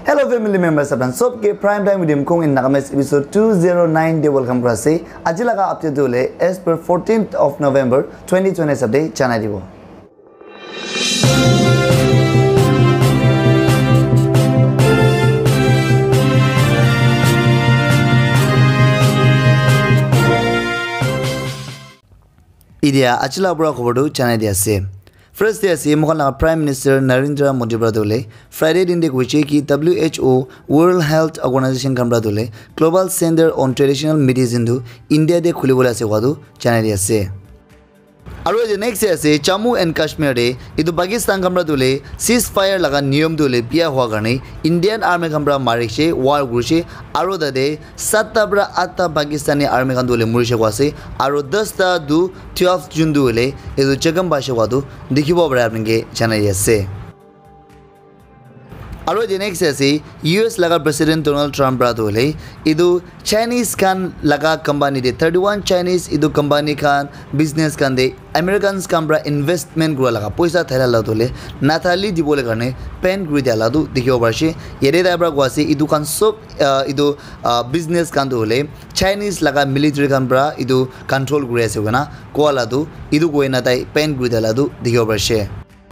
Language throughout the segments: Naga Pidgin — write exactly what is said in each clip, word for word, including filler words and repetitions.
Hello family members, apni sob ke Prime Time with Imkong in Nagamese episode two zero nine de welcome kura ase. Aji laga update tu hoile as per fourteenth of November twenty twenty hisab de janai dibo. Idia aji la pura khobor tu janai di ase. First de ase, moikhan laga Prime Minister Narendra Modi para tu hoile Friday din de koise ki W H O, World Health Organization khan para tu hoile Global Center on Traditional Medicine tu India de khuli bole ase koa tu janai di ase. Aru etu next de ase, Jammu and Kashmir de etu Pakistan khan para tu hoile ceasefire laga niyom tu hoile bia hua karne Indian Army khan para marishe, war kurishe, aru tate satta para atta Pakistani Army khan tu hoile murishe koa ase, aru dasta tu twelve June tu hoile etu Chakam Bashe koa tu dikhibo pare apni ke janai ase. Aru etu next ase, U S laga President Donald Trump para tu hoile etu Chinese khan laga company de thirty one Chinese etu company khan business khan de Americans khan para investment kura laga poisa thaila la tu hoile nathali dibole karne ban kuri dia la tu dikhibo parishe. Yate tai para koa ase etu khan sob, ah, etu, ah, business khan tu hoile Chinese laga military khan para etu control kuri ase koina koa la tu etu koina tai ban kuri dia la tu dikhibo parishe.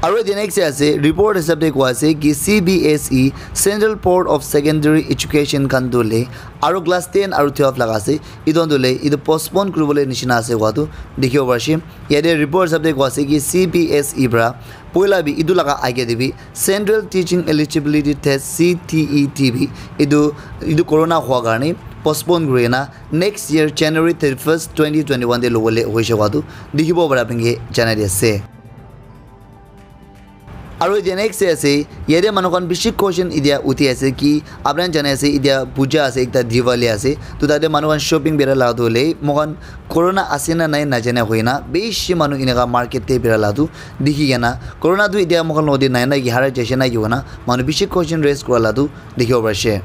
Aru etu next de ase, report hisab de koa ase ki C B S E, Central Board of Secondary Education khan tu hoile aru class ten aru twelve laga ase, etu khan tu hoile etu postpone kuri bole nishina ase koa tu dikhibo parishe. Yate report hisab de koa ase ki C B S E para poila bi etu laga age de bi Central Teaching Eligibility Test, C T E T bi etu, etu corona hua karne postpone kuri kena next year January thirty first, twenty twenty one de lobole hoise koa tu dikhibo pare apni ke janai di ase. Aru etu next de ase, yate manu khan bishi question idia uthi ase ki apni khan jane ase idia puja ase, ekta Diwali ase, to tate manu khan shopping bera la tu hoile moikhan corona ase na nai najane hoina bishi manu eneka market de bera la tu dikhi kena, corona tu idia moikhan logot de nai na ki harai jaise na ki hoina manu bishi question raise kura la tu dikhibo parishe.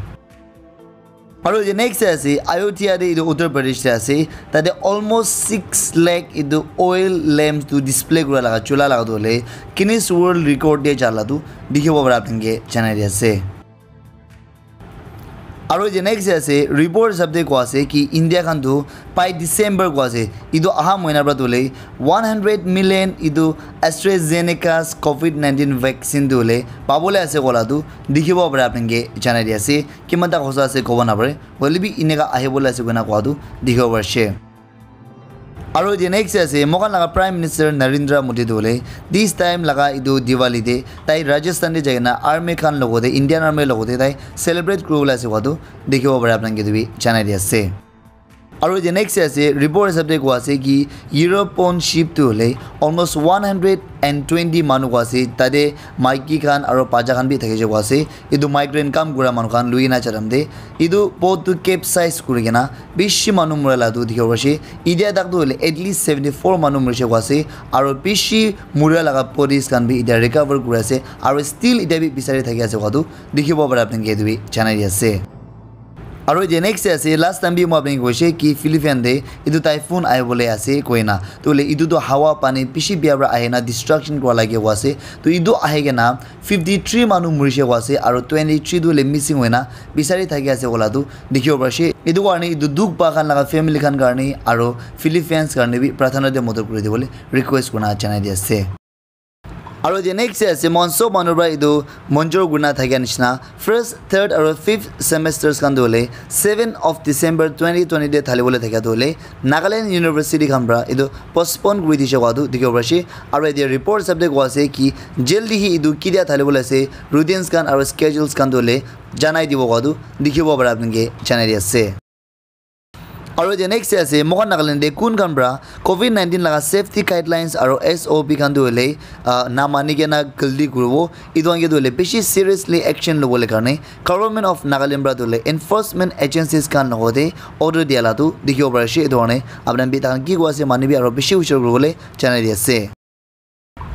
Aru etu next de ase, Ayodhya de etu Uttar Pradesh de ase, tate almost six lakh etu oil lamps tu display kura laga chula laga tu hoile Guinness World Record de ja la tu dikhibo pare apni ke janai di ase. Aru etu next de ase, report hisab de koa ase ki India khan tu by December koa ase, etu aha mohina para tu hoile one hundred million etu AstraZeneca's covid nineteen vaccine tu hoile pabole ase koa la tu dikhibo pare apni ke janai di ase. Kiman ta hosa ase kobo napare, hoile bi eneka ahibole ase koina koa tu dikhibo parishe. Aru etu next de ase, moikhan laga Prime Minister Narendra Modi tu hoile this time laga etu Diwali de tai Rajasthan de jai kena army khan logot de, Indian Army logot de tai celebrate kuri bole ase koa tu dikhibo pare apni khan ke tu bi janai di ase. Aru etu next de ase, report hisab de koa ase ki European ship tu hoile almost one hundred and twenty manu koa ase, tate maiki khan aru bacha khan bi thakise koa ase. Etu migrant kam kura manu khan lui kena ja time de etu boat tu capsize kuri kena bishi manu mura la tu dikhibo parishe. Idia tak tu hoile at least seventy four manu murishe koa ase, aru bishi mura laga bodies khan bi idia recover kuri ase, aru still idia bi bisari thaki ase koa tu dikhibo pare apni ke etu bi janai di ase. Aru etu next de ase, last time bi moi apni ke koise ki Philippines de etu typhoon ahibole ase koina, to hoile etu tu hawa pani bishi bia para ahi na destruction kura lage koa ase, to etu ahi kena fifty three manu murishe koa ase, aru twenty three tu hoile missing hoina bisari thaki ase koa la tu dikhibo parishe. Etu karne etu dukh pa khan laga family khan karne aru Philippines karne bi prathana de modot kuri dibole request kurina janai di ase. Aru etu next de ase, moikhan sob manu para etu monjor kurina thakia nishina first, third aru fifth semesters khan tu hoile seven of December twenty twenty de thali bole thakia tu hoile Nagaland University khan para etu postpone kuri dishe koa tu dikhibo parishe. Aru etia report hisab de koa ase ki jaldi hi etu kidia thali bole ase, routines khan aru schedules khan tu hoile janai dibo koa tu dikhibo pare apni ke janai di ase. Aru etia next de ase, moikhan Nagaland de kun khan para covid nineteen laga safety guidelines aru S O P khan tu hoile, ah, na mani kena galti kuribo, etu khan ke tu hoile bishi seriously action lobole karne Government of Nagaland para tu hoile enforcement agencies khan logot de order dia la tu dikhibo parishe. Etu karne apni khan bi tai khan ki koa ase mani bi aru bishi hushar kuribole janai di ase.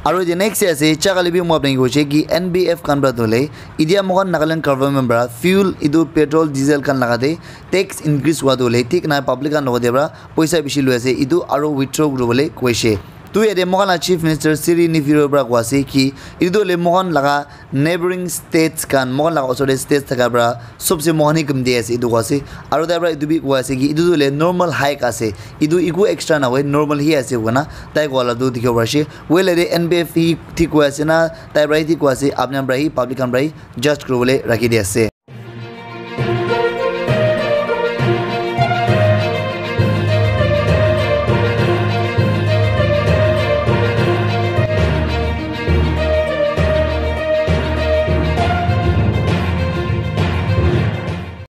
Aru etu next de ase, chakali bi moi apni ke koise ki N B F khan para tu hoile, idia moikhan Nagaland government para fuel etu petrol diesel khan laga de tax increase hua tu hoile thik nai public khan logot de para poisa bishi lui ase, etu aru withdraw kuribole koise. Tu yate moikhan la Chief Minister Sri Neiphiu Rio pra koa ase ki etu tu hoile moikhan laga neighboring states khan, moikhan laga osor te states thaka pra sobse moikhan hi kam di ase etu koa ase. Aru tai pra etu bi koa ase ki etu tu hoile normal hike ase, etu eku extra na hoi, normal hi ase koina tai koa la tu dikhibo pari ase. Hoile yate N P F hi thik koi ase na, tai pra hi thik koi ase, apni khan pra hi, public khan pra hi judge kuribole rakhi di ase.